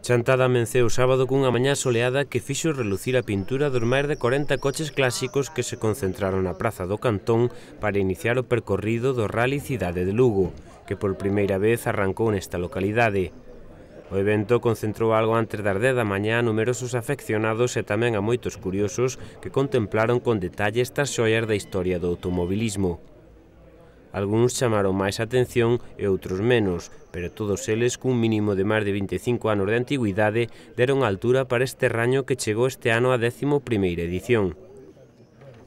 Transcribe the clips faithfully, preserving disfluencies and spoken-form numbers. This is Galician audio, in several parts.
Chantada amenceu o sábado cunha mañá soleada que fixo relucir a pintura dos máis de corenta coches clásicos que se concentraron na praza do Cantón para iniciar o percorrido do Rally Cidade de Lugo, que por primeira vez arrancou nesta localidade. O evento concentrou algo antes das dez da mañá a numerosos afeccionados e tamén a moitos curiosos que contemplaron con detalle estas xoias da historia do automobilismo. Algúns chamaron máis a atención e outros menos, pero todos eles, cun mínimo de máis de vinte e cinco anos de antigüidade, deron altura para este raño que chegou este ano á décimo primeira edición.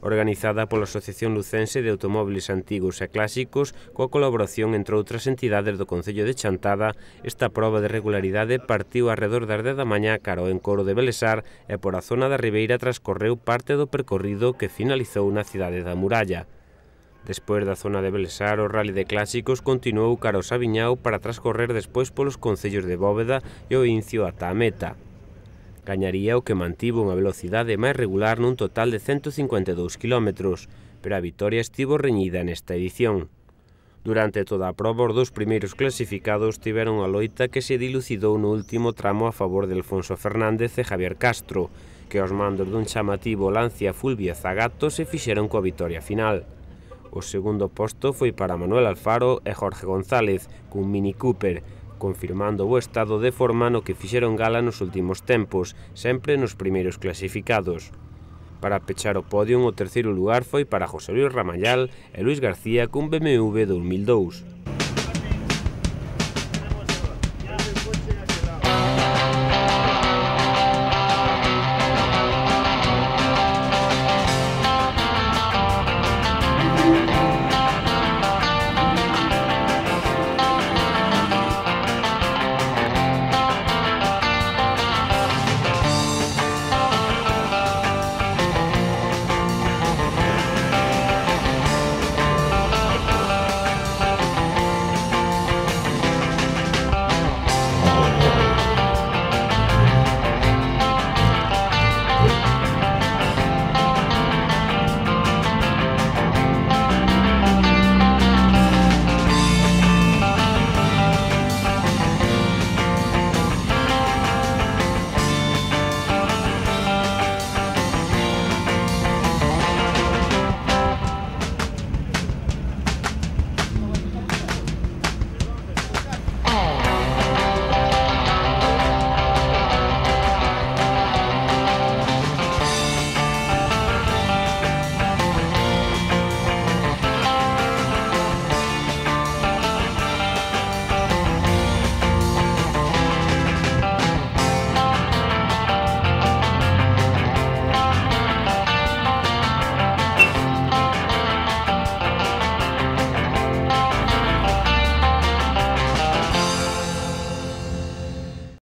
Organizada pola Asociación Lucense de Automóbiles Antigos e Clásicos, coa colaboración entre outras entidades do Concello de Chantada, esta proba de regularidade partiu arredor das dez da mañá cara ao encoro de Belesar e por a zona da Ribeira transcorreu parte do percorrido que finalizou na cidade da Muralla. Despois da zona de Belesar, o Rally de Clásicos continuou cara ao Sabiñao para transcorrer despois polos concellos de Bóveda e o Incio ata a meta. Gañaría o que mantivo unha velocidade máis regular nun total de cento cincuenta e dous kilómetros, pero a vitoria estivo reñida nesta edición. Durante toda a proba, os dous primeiros clasificados tiveron a loita que se dilucidou no último tramo a favor de Alfonso Fernández e Javier Castro, que aos mandos dun chamativo Lancia Fulvia Zagato se fixeron coa vitoria final. O segundo posto foi para Manuel Alfaro e Jorge González, cun Mini Cooper, confirmando o estado de forma no que fixeron gala nos últimos tempos, sempre nos primeiros clasificados. Para pechar o podio, o terceiro lugar foi para José Luis Ramallal e Luis García cun B M W dous mil dous.